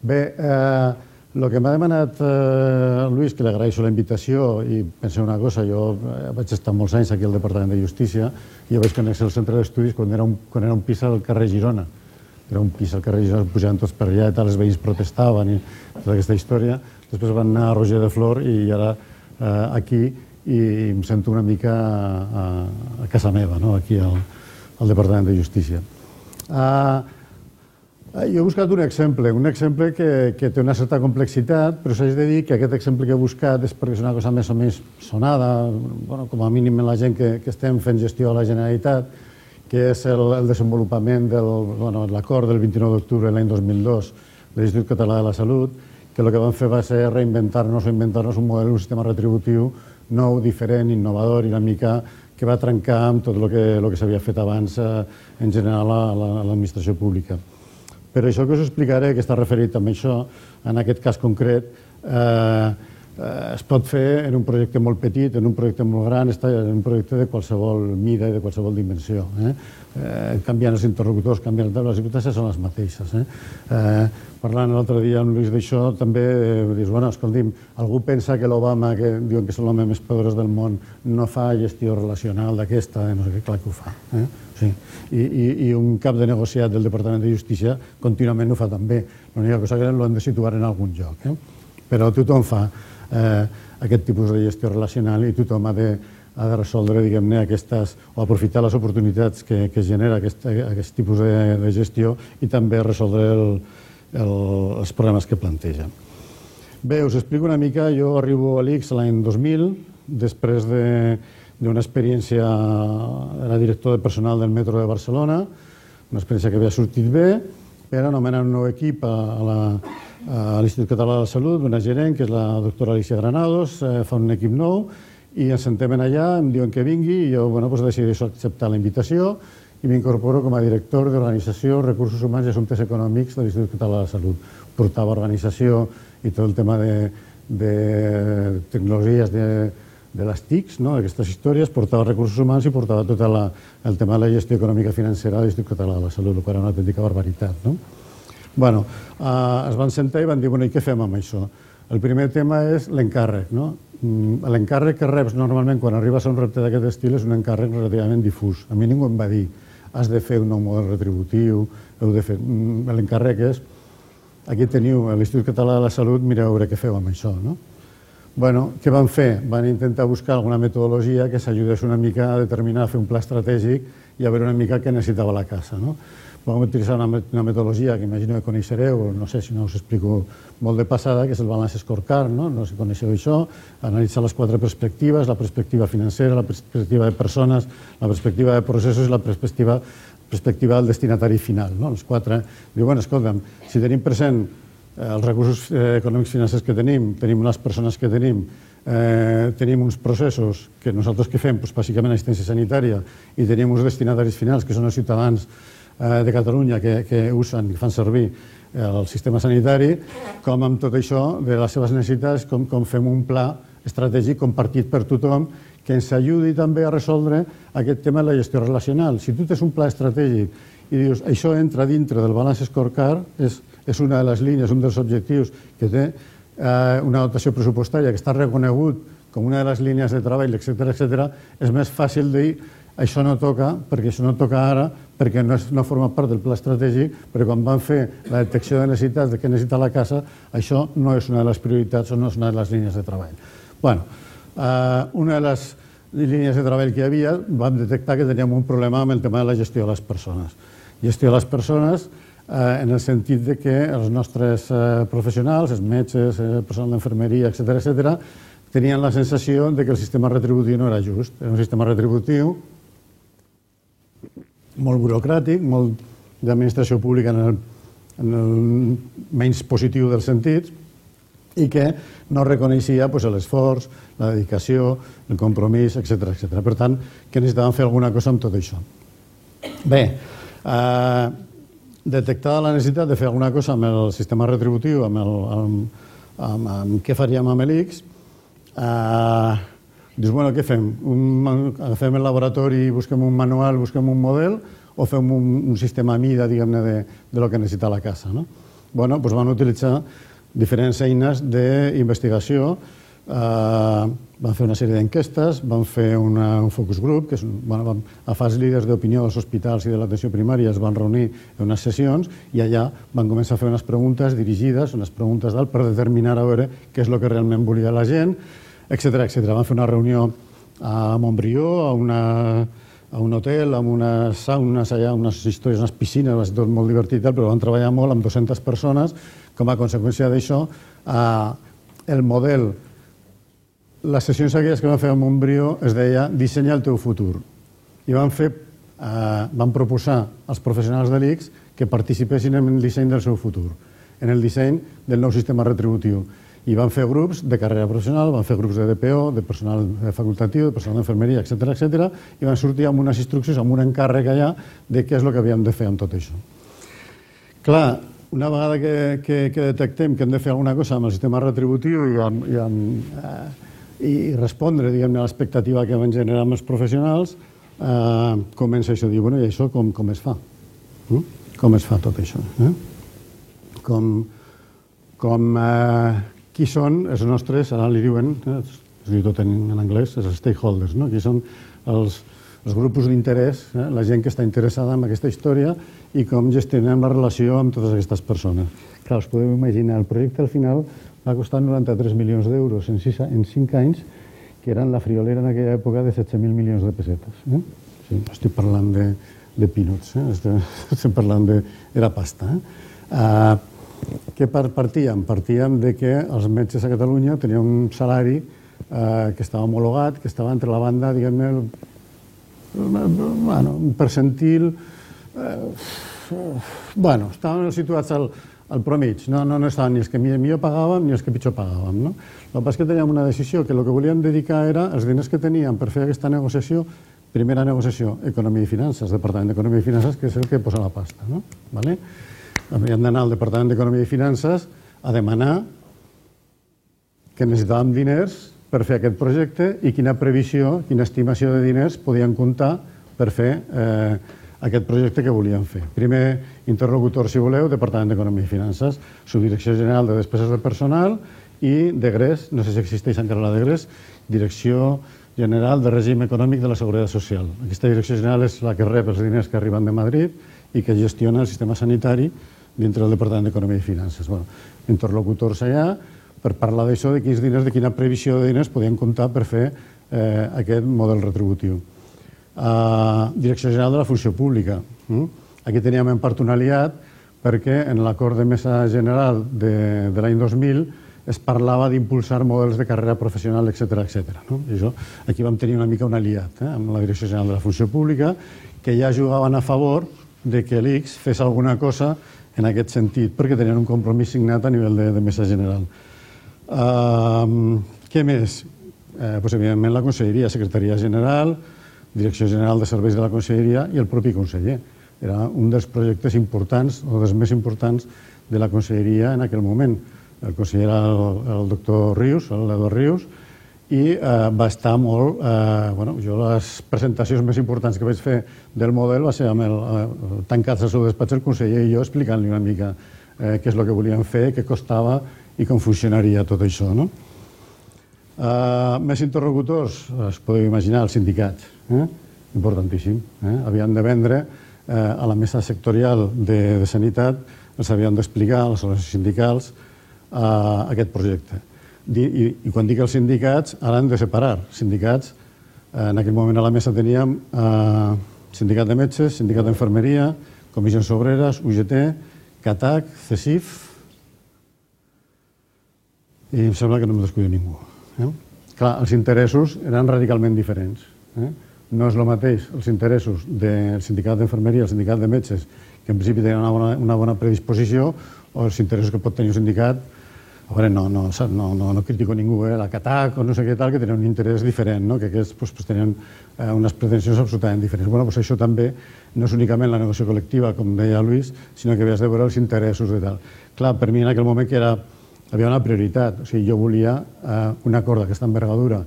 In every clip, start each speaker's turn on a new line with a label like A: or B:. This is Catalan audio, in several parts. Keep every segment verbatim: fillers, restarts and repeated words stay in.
A: Bé, el que m'ha demanat Lluís, que li agraeixo la invitació, i penseu una cosa, jo vaig estar molts anys aquí al Departament de Justícia i jo vaig conèixer el centre d'estudis quan era un pis al carrer Girona. Era un pis al carrer Girona, pujaven tots per allà i tal, els veïns protestaven i tota aquesta història. Després van anar a Roger de Flor i ara aquí i em sento una mica a casa meva, aquí al Departament de Justícia. Jo he buscat un exemple, un exemple que té una certa complexitat, però s'haig de dir que aquest exemple que he buscat és perquè és una cosa més o menys sonada, com a mínim en la gent que estem fent gestió a la Generalitat, que és el desenvolupament de l'acord del vint-i-nou d'octubre de l'any dos mil dos de l'Institut Català de la Salut, que el que van fer va ser reinventar-nos o inventar-nos un model, un sistema retributiu nou, diferent, innovador i una mica que va trencar amb tot el que s'havia fet abans en general a l'administració pública. Però això que us explicaré, que està referit a això, en aquest cas concret, es pot fer en un projecte molt petit, en un projecte molt gran, en un projecte de qualsevol mida i de qualsevol dimensió. Canviant els interlocutors, canviant les circumstàncies, són les mateixes. Parlant l'altre dia amb Lluís d'això, també dius, bueno, escolti'm, algú pensa que l'Obama, que diuen que és l'home més poderós del món, no fa gestió relacional d'aquesta, no sé què, clar que ho fa. I un cap de negociat del Departament de Justícia contínuament ho fa també. L'única cosa que l'hem de situar en algun lloc. Però tothom fa aquest tipus de gestió relacional i tothom ha de resoldre, diguem-ne, aquestes, o aprofitar les oportunitats que genera aquest tipus de gestió i també resoldre els problemes que planteja. Bé, us explico una mica. Jo arribo a l'I C S l'any dos mil, després d'una experiència, era director de personal del metro de Barcelona, una experiència que havia sortit bé, per anomenar un nou equip a l'Institut Català de la Salut, una gerent, que és la doctora Alicia Granados, fa un equip nou, i ens sentem allà, em diuen que vingui, i jo decideixo acceptar la invitació i m'incorporo com a director d'Organització, Recursos Humans i Assumptes Econòmics de l'Institut Català de la Salut. Portava organització i tot el tema de tecnologies de les T I Cs, d'aquestes històries, portava recursos humans i portava tot el tema de la gestió econòmica financera de l'Institut Català de la Salut, el qual era una autèntica barbaritat. Bé, es van sentar i van dir, bueno, i què fem amb això? El primer tema és l'encàrrec. L'encàrrec que reps normalment quan arribes a un repte d'aquest estil és un encàrrec relativament difús. A mi ningú em va dir, has de fer un nou model retributiu, heu de fer... L'encàrrec és, aquí teniu l'Institut Català de la Salut, mireu a veure què feu amb això. Bueno, què van fer? Van intentar buscar alguna metodologia que s'ajudés una mica a determinar, a fer un pla estratègic i a veure una mica què necessitava la casa. Vam utilitzar una metodologia que imagino que coneixereu, no sé si no us explico molt de passada, que és el Balance Scorecard, no sé si coneixeu això, analitzar les quatre perspectives, la perspectiva financera, la perspectiva de persones, la perspectiva de processos i la perspectiva del destinatari final. Els quatre, diu, bueno, escolta'm, si tenim present els recursos econòmics financers que tenim, tenim les persones que tenim, tenim uns processos que nosaltres que fem, bàsicament assistència sanitària, i tenim uns destinataris finals, que són els ciutadans de Catalunya que usen i fan servir el sistema sanitari, com amb tot això de les seves necessitats, com fem un pla estratègic compartit per tothom que ens ajudi també a resoldre aquest tema de la gestió relacional. Si tu tens un pla estratègic i dius això entra dintre del Balance Scorecard, és una de les línies, un dels objectius que té una dotació pressupostària que està reconegut com una de les línies de treball, etcètera, etcètera, és més fàcil dir això no toca, perquè això no toca ara, perquè no forma part del pla estratègic, perquè quan van fer la detecció de necessitats de què necessita la casa, això no és una de les prioritats o no és una de les línies de treball. Bé, una de les línies de treball que hi havia, vam detectar que teníem un problema amb el tema de la gestió de les persones. Gestió de les persones en el sentit que els nostres professionals, els metges, el personal d'infermeria, etcètera, etcètera, tenien la sensació que el sistema retributiu no era just. Era un sistema retributiu molt burocràtic, molt d'administració pública en el menys positiu dels sentits, i que no reconeixia l'esforç, la dedicació, el compromís, etcètera. Per tant, que necessitaven fer alguna cosa amb tot això. Bé, detectada la necessitat de fer alguna cosa amb el sistema retributiu, amb què faríem amb l'I C S, dius, bueno, què fem? Agafem el laboratori i busquem un manual, busquem un model, o fem un sistema a mida, diguem-ne, de lo que necessita la casa? bueno, doncs van utilitzar diferents eines d'investigació, eh, van fer una sèrie d'enquestes, van fer una, un focus group, que és, bueno, van agafar els líders d'opinió dels hospitals i de l'atenció primària, es van reunir en unes sessions i allà van començar a fer unes preguntes dirigides, unes preguntes d'alt, per determinar a veure què és el que realment volia la gent, etcètera, etcètera. Van fer una reunió a Montbrió, a una... a un hotel, amb unes saunes allà, unes històries, unes piscines, va ser tot molt divertit, però van treballar molt amb dues-centes persones. Com a conseqüència d'això, el model, les sessions aquelles que van fer a Montbrió es deia Dissenya el teu futur. I van fer, van proposar als professionals de l'I C S que participessin en el disseny del seu futur, en el disseny del nou sistema retributiu. I van fer grups de carrera professional, van fer grups de D P O, de personal facultatiu, de personal d'infermeria, etcètera, etcètera, i van sortir amb unes instruccions, amb un encàrrec allà de què és el que havíem de fer amb tot això. Clar, una vegada que, que, que detectem que hem de fer alguna cosa amb el sistema retributiu i, amb, i, amb, eh, i respondre, diguem-ne, a l'expectativa que van generar amb els professionals, eh, comença això a dir, bueno, i això com, com es fa? Mm? Com es fa tot això? Eh? Com... com eh, qui són els nostres, ara li diuen, eh, es diu tot en, en anglès, els stakeholders, no? Qui són els, els grups d'interès, eh? La gent que està interessada en aquesta història i com gestionem la relació amb totes aquestes persones. Clar, us podeu imaginar, el projecte al final va costar noranta-tres milions d'euros en, en cinc anys, que eren la friolera en aquella època de setze mil milions de pessetes. Eh? Sí, estic parlant de, de peanuts, eh? estic, estic parlant de... era pasta. Eh? Uh, Què partíem? Partíem de que els metges a Catalunya tenien un salari eh, que estava homologat, que estava entre la banda, diguem-ne, bueno, un percentil... Eh, bueno, estaven situats al, al promig, no, no, no estaven ni els que millor pagàvem ni els que pitjor pagàvem. No? El que passa és que teníem una decisió que el que volíem dedicar era els diners que teníem per fer aquesta negociació, primera negociació, Economia i Finances, Departament d'Economia i Finances, que és el que posa la pasta. No? Vale? Havíem d'anar al Departament d'Economia i Finances a demanar que necessitàvem diners per fer aquest projecte i quina previsió, quina estimació de diners podien comptar per fer eh, aquest projecte que volíem fer. Primer interlocutor, si voleu, Departament d'Economia i Finances, Subdirecció General de Despeses de Personal i D E G R E S, no sé si existeix encara la D E G R E S, Direcció General de Règim Econòmic de la Seguretat Social. Aquesta direcció general és la que rep els diners que arriben de Madrid i que gestiona el sistema sanitari dintre del Departament d'Economia i Finances. Bueno, interlocutors allà per parlar d'això, de quins diners, de quina previsió de diners podien comptar per fer eh, aquest model retributiu. Uh, Direcció General de la Funció Pública. Mm? Aquí teníem en part un aliat perquè en l'acord de mesa general de, de l'any dos mil es parlava d'impulsar models de carrera professional, etcètera, etcètera. No? I això, aquí vam tenir una mica un aliat eh, amb la Direcció General de la Funció Pública que ja jugaven a favor de que l'I C S fes alguna cosa en aquest sentit, perquè tenien un compromís signat a nivell de, de mesa general. Uh, què més? Eh, pues, evidentment, la Conselleria, Secretaria General, Direcció General de Serveis de la Conselleria i el propi conseller. Era un dels projectes importants, o dels més importants, de la Conselleria en aquell moment. El conseller era el, el doctor Rius, l'Eduard Rius, i eh, va estar molt... Eh, bueno, jo les presentacions més importants que vaig fer del model va ser amb el, eh, tancats al seu despatx el conseller i jo explicant-li una mica eh, què és el que volíem fer, què costava i com funcionaria tot això. No? Eh, més interlocutors, es podeu imaginar, els sindicats. Eh? Importantíssim. Eh? Havien de vendre eh, a la mesa sectorial de, de Sanitat, els havien d'explicar a les organitzacions sindicals eh, aquest projecte. I, i quan dic els sindicats, ara hem de separar. Sindicats, eh, en aquell moment a la mesa teníem eh, sindicat de metges, sindicat d'infermeria, comissions obreres, U G T, CATAC, CESIF, i em sembla que no em descuido ningú. Eh? Clar, els interessos eren radicalment diferents. Eh? No és el mateix els interessos del sindicat d'infermeria i el sindicat de metges, que en principi tenen una bona, una bona predisposició, o els interessos que pot tenir un sindicat. A veure, no, no, no, no, no critico ningú, eh? La CATAC o no sé què tal, que tenen un interès diferent, no? Que aquests pues, pues, tenen eh, unes pretensions absolutament diferents. Bueno, pues això també no és únicament la negociació col·lectiva, com deia Luis, sinó que havies de veure els interessos i tal. Clar, per mi en aquell moment que era, havia una prioritat, o sigui, jo volia eh, un acord d'aquesta envergadura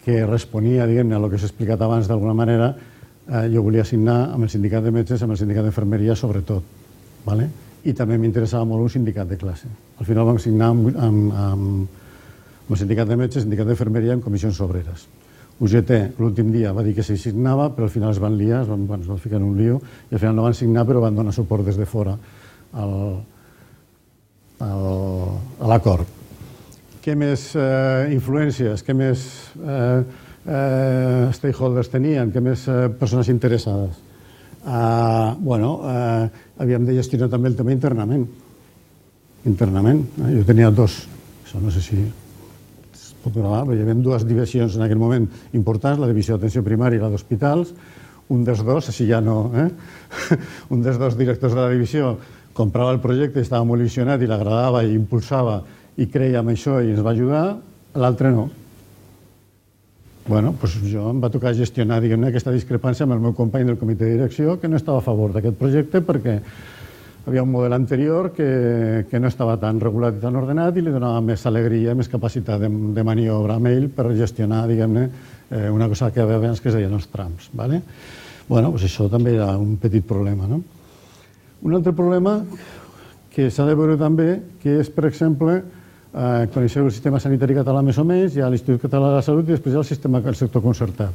A: que responia, diguem-ne, a el que s'ha explicat abans d'alguna manera, eh, jo volia signar amb el sindicat de metges, amb el sindicat d'infermeria, sobretot, ¿vale? i també m'interessava molt un sindicat de classe. Al final vam signar amb, amb, amb el sindicat de metges, sindicat d'infermeria en comissions obreres. U G T l'últim dia va dir que s'hi signava, però al final es van liar, es van, bueno, es van ficar en un lío, i al final no van signar, però van donar suport des de fora al, al, a l'acord. Què més eh, influències, què més eh, eh, stakeholders tenien, què més eh, persones interessades? Uh, bueno, uh, havíem de gestionar també el tema internament. Internament. Eh? Jo tenia dos, això no sé si es pot gravar, però hi havia dues divisions en aquell moment importants, la divisió d'atenció primària i la d'hospitals. Un dels dos, així ja no, eh? un dels dos directors de la divisió comprava el projecte, estava molt il·lusionat i l'agradava i impulsava i creia en això i ens va ajudar, l'altre no. Bueno, doncs jo em va tocar gestionar, diguem-ne, aquesta discrepància amb el meu company del comitè de direcció que no estava a favor d'aquest projecte perquè havia un model anterior que, que no estava tan regulat i tan ordenat i li donava més alegria, més capacitat de, de maniobra amb ell per gestionar, diguem-ne, eh, una cosa que abans que es deien els trams. ¿Vale? Bueno, doncs això també era un petit problema. No? Un altre problema que s'ha de veure també, que és, per exemple, Eh, coneixeu el sistema sanitari català més o menys, hi ha l'Institut Català de la Salut i després hi ha el sistema del sector concertat.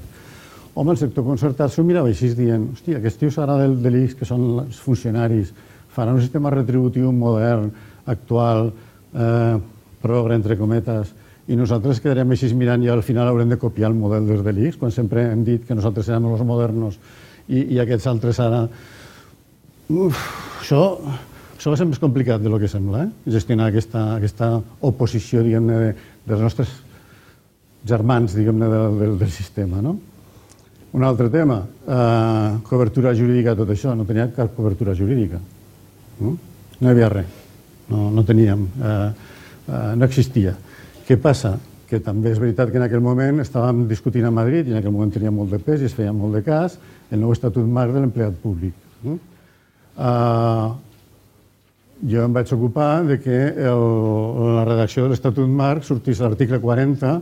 A: Home, el sector concertat s'ho mirava així dient, hòstia, aquests tios ara del, de l'I X, que són els funcionaris, faran un sistema retributiu modern, actual, eh, progre, entre cometes, i nosaltres quedarem així mirant i al final haurem de copiar el model des de l'I X, quan sempre hem dit que nosaltres érem els modernos i, i aquests altres ara... Uf, això... Això va ser més complicat del que sembla, eh? gestionar aquesta, aquesta oposició, diguem-ne, de, dels nostres germans, diguem-ne, del, del, del sistema. No? Un altre tema, eh, cobertura jurídica, tot això, no tenia cap cobertura jurídica. No, no hi havia res, no, no teníem, eh, eh, no existia. Què passa? Que també és veritat que en aquell moment estàvem discutint a Madrid i en aquell moment tenia molt de pes i es feia molt de cas el nou estatut marc de l'empleat públic. No? Eh, Jo em vaig ocupar de que el, la redacció de l'Estatut Marc sortís l'article quaranta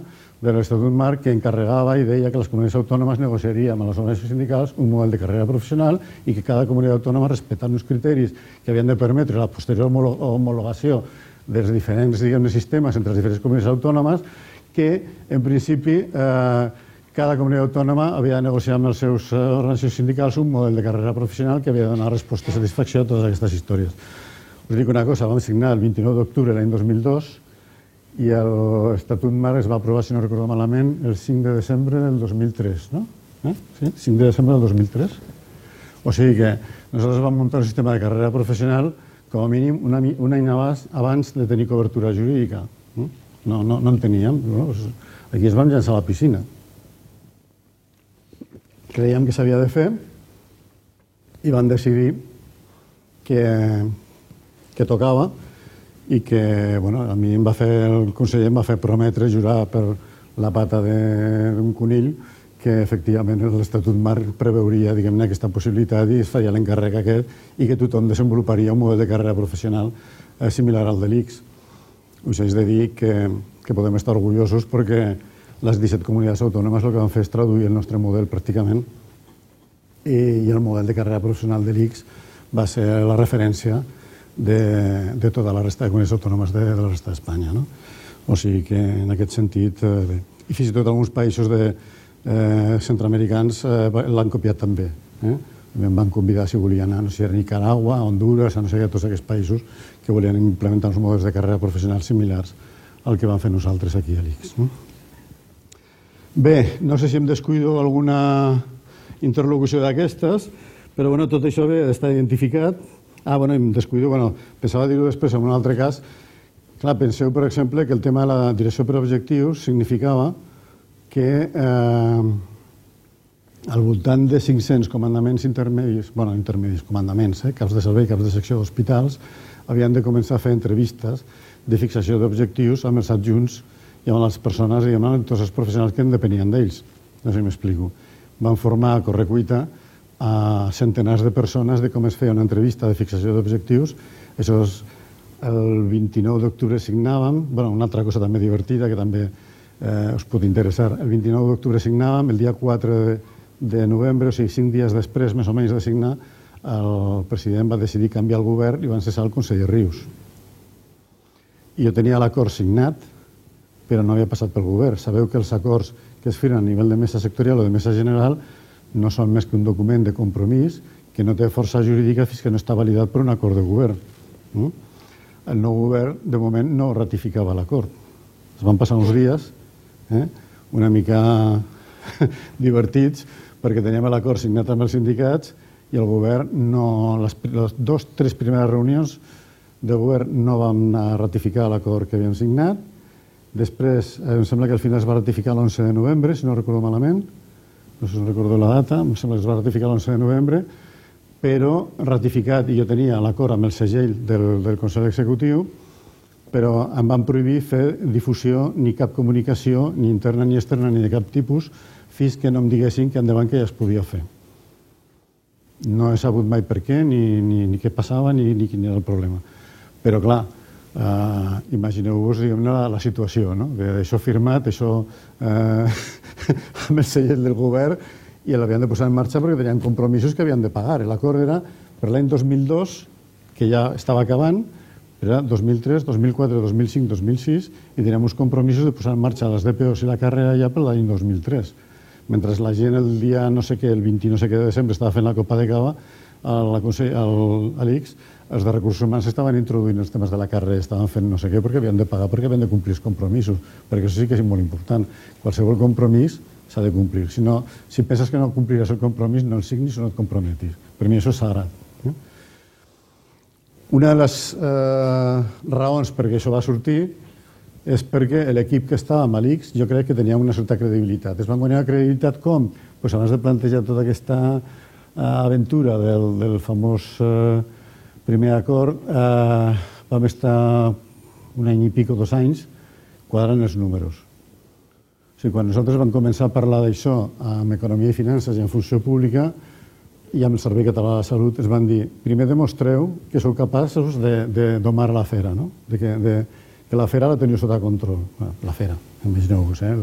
A: de l'Estatut Marc que encarregava i deia que les comunitats autònomes negociaríem amb les organitzacions sindicals un model de carrera professional i que cada comunitat autònoma respectant uns criteris que havien de permetre la posterior homologació dels diferents, diguem-ne, sistemes entre les diferents comunitats autònomes que, en principi, eh, cada comunitat autònoma havia de negociar amb les seves organitzacions sindicals un model de carrera professional que havia de donar resposta i satisfacció a totes aquestes històries. Us dic una cosa, vam signar el vint-i-nou d'octubre l'any dos mil dos i l'Estatut Marc es va aprovar, si no recordo malament, el cinc de desembre del dos mil tres, no? Eh? Sí? cinc de desembre del dos mil tres. O sigui que nosaltres vam muntar un sistema de carrera professional com a mínim un any abans de tenir cobertura jurídica. No, no, no en teníem. No? Aquí ens vam llançar a la piscina. Creiem que s'havia de fer i vam decidir que... que tocava i que, bueno, a mi em va fer, el conseller em va fer prometre, jurar per la pata d'un conill que efectivament l'Estatut Marc preveuria, diguem-ne, aquesta possibilitat i es faria l'encàrrec aquest i que tothom desenvoluparia un model de carrera professional eh, similar al de l'I X. Us haig de dir que, que podem estar orgullosos perquè les disset comunitats autònomes el que van fer és traduir el nostre model pràcticament i, i el model de carrera professional de l'I X va ser la referència de, de tota la resta de comunitats autònomes de, de la resta d'Espanya. No? O sigui que en aquest sentit, eh, bé. I fins i tot alguns països de, eh, centroamericans eh, l'han copiat també. Eh? Em van convidar si volien anar, no sé, a Nicaragua, a Honduras, a no sé què, tots aquests països que volien implementar uns models de carrera professional similars al que vam fer nosaltres aquí a l'I X. No? Bé, no sé si em descuido alguna interlocució d'aquestes, però bueno, tot això bé està identificat. Ah, bueno, em descuido, bueno, pensava dir-ho després en un altre cas. Clar, penseu, per exemple, que el tema de la direcció per objectius significava que eh, al voltant de cinc-cents comandaments intermedis, bueno, intermedis, comandaments, eh, caps de servei, caps de secció d'hospitals, havien de començar a fer entrevistes de fixació d'objectius amb els adjunts i amb les persones, diguem, amb tots els professionals que en depenien d'ells. No sé si m'explico. Van formar a correcuita a centenars de persones de com es feia una entrevista de fixació d'objectius. Això és el vint-i-nou d'octubre signàvem, bueno, una altra cosa també divertida que també eh, us pot interessar. El vint-i-nou d'octubre signàvem, el dia quatre de novembre, o sigui, cinc dies després, més o menys, de signar, el president va decidir canviar el govern i van cessar el conseller Rius. I jo tenia l'acord signat, però no havia passat pel govern. Sabeu que els acords que es firmen a nivell de mesa sectorial o de mesa general no són més que un document de compromís que no té força jurídica fins que no està validat per un acord de govern. El nou govern, de moment, no ratificava l'acord. Es van passar uns dies eh, una mica divertits perquè teníem l'acord signat amb els sindicats i el govern, no, les, les dues o tres primeres reunions de govern no vam anar a ratificar l'acord que havíem signat. Després, eh, em sembla que al final es va ratificar l'onze de novembre, si no recordo malament, no sé si recordo la data, em sembla que es va ratificar l'onze de novembre, però ratificat, i jo tenia l'acord amb el segell del, del Consell Executiu, però em van prohibir fer difusió ni cap comunicació, ni interna ni externa, ni de cap tipus, fins que no em diguessin que endavant que ja es podia fer. No he sabut mai per què, ni, ni, ni què passava, ni, ni quin era el problema. Però, clar, eh, imagineu-vos la, la situació, no? D'això firmat, això eh, amb el segell del govern, i l'havien de posar en marxa perquè tenien compromisos que havien de pagar. L'acord era per l'any dos mil dos, que ja estava acabant, era dos mil tres, dos mil quatre, dos mil cinc, dos mil sis, i teníem uns compromisos de posar en marxa les D P Os i la càrrega ja per l'any dos mil tres. Mentre la gent el dia no sé què, el vint no sé què de desembre, estava fent la Copa de Cava, a l'I X, els de recursos humans estaven introduint els temes de la càrrega, estaven fent no sé què perquè havien de pagar, perquè havien de complir els compromisos, perquè això sí que és molt important. Qualsevol compromís s'ha de complir. Si, no, si penses que no compliràs el compromís, no el signis o no et comprometis. Per mi això és sagrat. Eh? Una de les eh, raons perquè això va sortir és perquè l'equip que estava amb l'I X jo crec que tenia una certa credibilitat. Es van guanyar credibilitat com? Pues abans de plantejar tota aquesta eh, aventura del, del famós eh, primer acord, eh, vam estar un any i pico, dos anys, quadrant els números. O sigui, quan nosaltres vam començar a parlar d'això amb Economia i Finances i en Funció Pública i amb el Servei Català de la Salut, es van dir, primer demostreu que sou capaços de, de domar la fera, no? de, que, de, que la fera la teniu sota control. La fera, imagineu-vos, eh?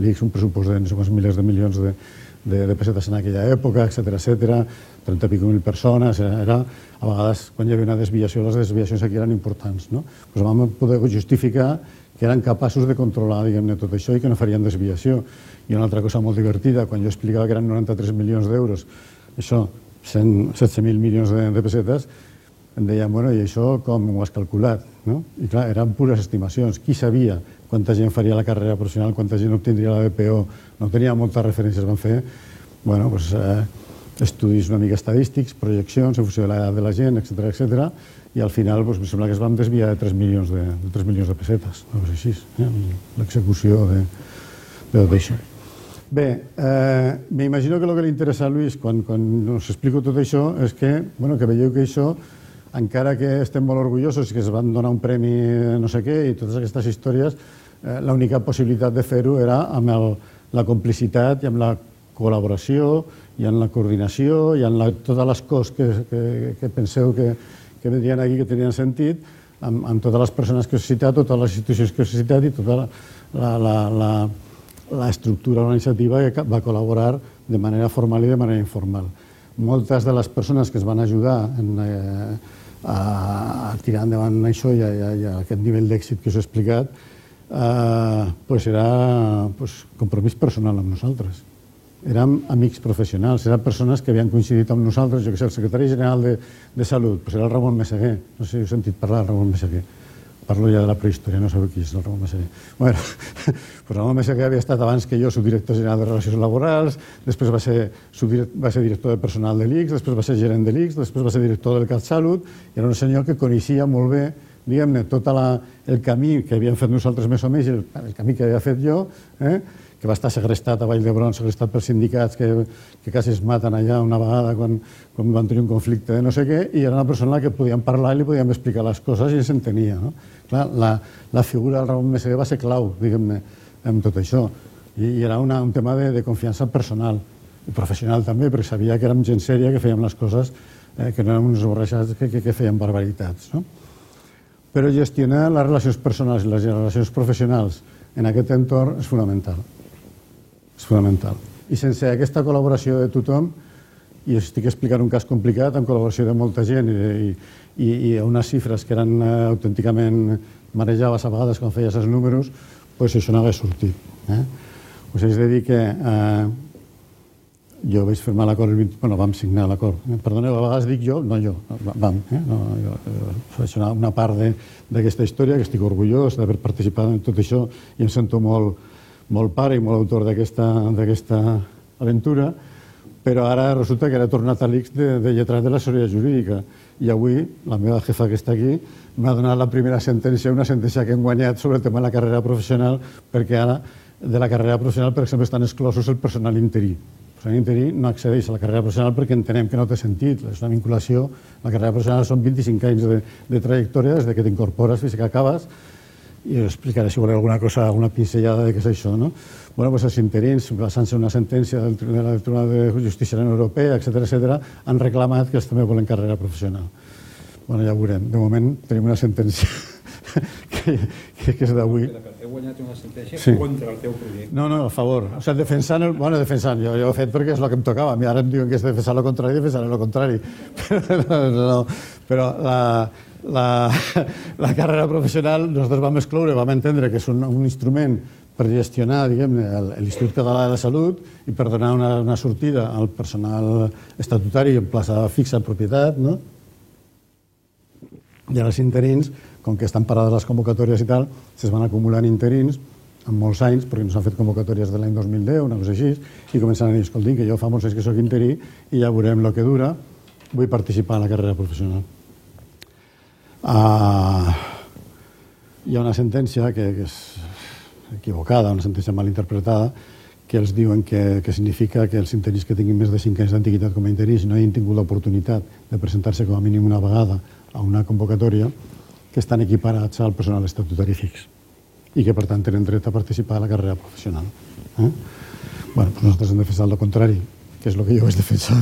A: l'I X un pressupost de no sé quants milers de milions de, de, de pessetes en aquella època, etcètera, etcètera, trenta i pico mil persones, era, a vegades, quan hi havia una desviació, les desviacions aquí eren importants, no? Pues vam poder justificar que eren capaços de controlar, diguem-ne, tot això i que no farien desviació. I una altra cosa molt divertida, quan jo explicava que eren noranta-tres milions d'euros, això, setze mil milions de, de pessetes, em deien, bueno, i això com ho has calculat? No? I clar, eren pures estimacions. Qui sabia quanta gent faria la carrera professional, quanta gent obtindria la B P O? No tenia moltes referències. Van fer, bueno, pues, eh, estudis una mica estadístics, projeccions en funció de l'edat de la gent, etcètera, etcètera, i al final pues, em sembla que es van desviar de tres milions de, de, tres milions de pessetes, no és així, eh? l'execució de, de tot això. Bé, eh, m'imagino que el que li interessa a Lluís quan, quan us explico tot això és que, bueno, que veieu que això, encara que estem molt orgullosos i que es van donar un premi no sé què i totes aquestes històries, eh, l'única possibilitat de fer-ho era amb el, la complicitat i amb la col·laboració i amb la coordinació i amb la, totes les coses que, que, que penseu que, que vendrien aquí, que tenien sentit, amb, amb totes les persones que us he citat, totes les institucions que us he citat i tota la, la, la, la, la estructura organitzativa que va col·laborar de manera formal i de manera informal. Moltes de les persones que es van ajudar en, eh, a, a tirar endavant això i a, a, a aquest nivell d'èxit que us he explicat, eh, pues era pues, compromís personal amb nosaltres. Érem amics professionals, eren persones que havien coincidit amb nosaltres, jo que sé, el secretari general de, de Salut, pues era el Ramon Meseguer, no sé si heu sentit parlar del Ramon Meseguer. Parlo ja de la prehistòria, no sabeu qui és el Ramon Meseguer. Bueno, pues Ramon Meseguer havia estat abans que jo subdirector general de Relacions Laborals, després va ser, va ser director de personal de l'I X, després va ser gerent de l'I X, després va ser director del CatSalut, i era un senyor que coneixia molt bé, diguem-ne, tot la, el camí que havíem fet nosaltres més o menys, el, el camí que havia fet jo, eh? que va estar segrestat a Vall d'Hebron, segrestat pels sindicats que, que quasi es maten allà una vegada quan, quan van tenir un conflicte de no sé què, i era una persona a la que podíem parlar i li podíem explicar les coses i s'entenia. No? Clar, la, la figura del Ramon Meseguer va ser clau, diguem-ne, en tot això. I, i era una, un tema de, de confiança personal i professional també, perquè sabia que érem gent sèria, que fèiem les coses, eh, que no érem uns borratxats que, que, que fèiem barbaritats. No? Però gestionar les relacions personals i les relacions professionals en aquest entorn és fonamental. És fonamental. I sense aquesta col·laboració de tothom i estic explicant un cas complicat amb col·laboració de molta gent i, i, i unes xifres que eren uh, autènticament marejaves a vegades quan feies els números, pues això no hagués sortit. Eh? Us haig de dir que uh, jo vaig firmar l'acord, bueno, vam signar l'acord. Eh? Perdoneu, a vegades dic jo, no jo, vam. Eh? No, jo, jo faig una, una part d'aquesta història, que estic orgullós d'haver participat en tot això i em sento molt, molt pare i molt autor d'aquesta aventura, però ara resulta que ara he tornat a l'I C S de, de lletrat de l'assessoria jurídica i avui la meva jefa que està aquí m'ha donat la primera sentència, una sentència que hem guanyat sobre el tema de la carrera professional, perquè ara de la carrera professional, per exemple, estan exclosos el personal interí. El personal interí no accedeix a la carrera professional perquè entenem que no té sentit. És una vinculació. La carrera professional són vint-i-cinc anys de, de trajectòria des que t'incorpores fins que acabes, i explicaré si voleu alguna cosa, alguna pinzellada de què és això, no? Bueno, doncs els interins, basant-se en una sentència del Tribunal de Justícia de la Unió Europea, etcètera, etcètera, han reclamat que ells també volen carrera professional. Bueno, ja ho veurem. De moment tenim una sentència que, que, que és d'avui.
B: Heu guanyat una sentència
A: sí.
B: contra el teu projecte.
A: No, no, a favor. O sigui, defensant... El, bueno, defensant. Jo, jo ho he fet perquè és el que em tocava. A mi ara em diuen que és defensar el contrari, defensar el contrari. Però, no, no, però la... La, la carrera professional nosaltres vam excloure, vam entendre que és un, un instrument per gestionar, diguem-ne, l'Institut Català de la Salut i per donar una, una sortida al personal estatutari en plaça fixa en propietat, no? I ara els interins, com que estan parades les convocatòries i tal, es van acumulant interins en molts anys, perquè no s'han fet convocatòries de l'any dos mil deu, una cosa així, i començant a dir, escolti, que jo fa molts anys que soc interí i ja veurem el que dura, vull participar en la carrera professional. Uh, hi ha una sentència que, que és equivocada, una sentència mal interpretada, que els diuen que, que significa que els interins que tinguin més de cinc anys d'antiguitat com a interins no hagin tingut l'oportunitat de presentar-se com a mínim una vegada a una convocatòria, que estan equiparats al personal estatutari fix i que, per tant, tenen dret a participar a la carrera professional. Eh? Bueno, doncs nosaltres hem defensat el contrari, que és el que jo vaig defensar.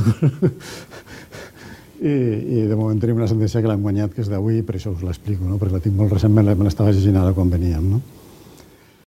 A: I, i de moment tenim una sentència que l'hem guanyat, que és d'avui, per això us l'explico, no? Perquè la tinc molt recentment, me l'estava llegint ara quan veníem, no?